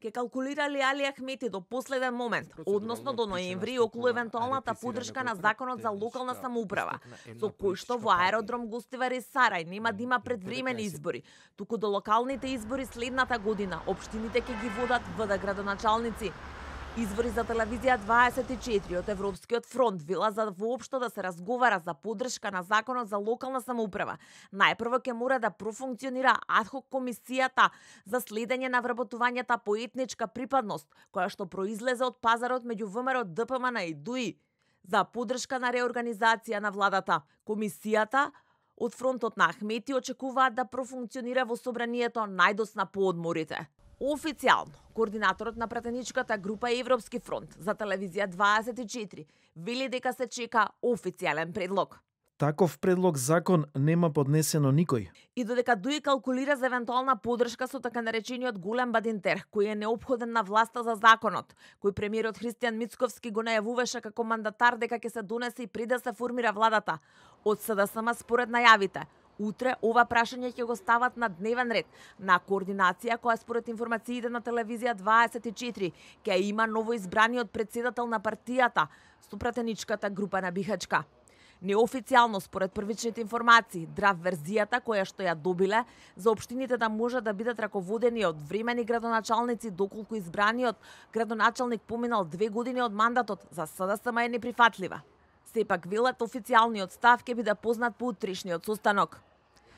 ке калкулирали Али Ахмети до последен момент, односно до ноември, околу евентуалната поддршка на законот за локална самоуправа, со кој што во аеродром Гостивари Сарај нема да има предвремени избори, туку до локалните избори следната година општините ќе ги водат ВД градоначалници. Извори за телевизија 24 од Европскиот фронт вела за воопшто да се разговара за поддршка на законот за локална самоуправа. Најпрво ќе мора да профункционира адхок комисијата за следење на вработувањата по етничка припадност, која што произлезе од пазарот меѓу ВМРО, ДПМН и ДУИ за поддршка на реорганизација на владата. Комисијата од фронтот на Ахмети очекуваат да профункционира во собранието најдосна по одморите. Официјално, координаторот на пратеничката група Европски фронт за телевизија 24 вели дека се чека официјален предлог. Таков предлог закон нема поднесено никој. И додека ДУИ калкулира за евентуална поддршка со така наречениот голем бадинтер, кој е неопходен на власта за законот, кој премиерот Христијан Мицковски го најавуваше како мандатар дека ќе се донесе и пред да се формира владата, од СДСМ според најавите, утре ова прашање ќе го стават на дневен ред на координација која според информациите на телевизија 24 ќе има новоизбраниот претседател на партијата со пратеничката група на Бихачка. Неофицијално според првичните информации, драв верзијата која што ја добиле за општините да може да бидат раководени од времени градоначалници доколку избраниот градоначалник поминал 2 години од мандатот за СДСМ е неприфатлива. Сепак велат официјалниот став ќе биде познат по утрешниот состанок.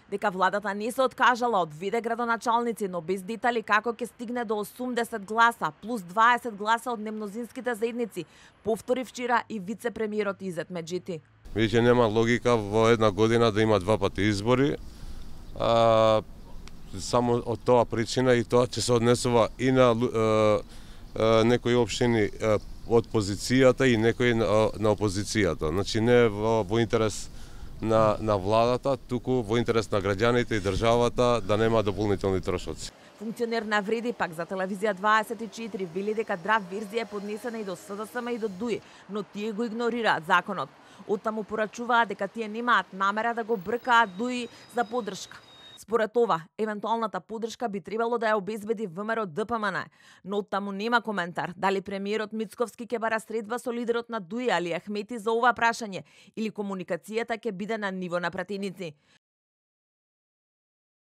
Дека владата не се откажала од ВД градоначалници, но без детали како ќе стигне до 80 гласа плюс 20 гласа од немнозинските заедници, повтори вчера и вице-премиерот Изет Меджити. Веќе нема логика во една година да има два пати избори. Само од тоа причина и тоа ќе се однесува и на некои општини од позицијата и некои на опозицијата. Значи не во интерес на владата, туку во интерес на граѓаните и државата да нема дополнителни трошоци. Функционер навреди пак за телевизија 24 вели дека драв верзија е поднесена и до СДСМ и до ДУИ, но тие го игнорираат законот. Оттаму порачуваат дека тие немаат намера да го бркаат ДУИ за поддршка. Според ова, евентуалната поддршка би требало да ја обезбеди ВМРО ДПМН, но оттаму нема коментар дали премиерот Мицковски ќе бара средба со лидерот на ДУИ Али Ахмети за ова прашање или комуникацијата ќе биде на ниво на пратеници.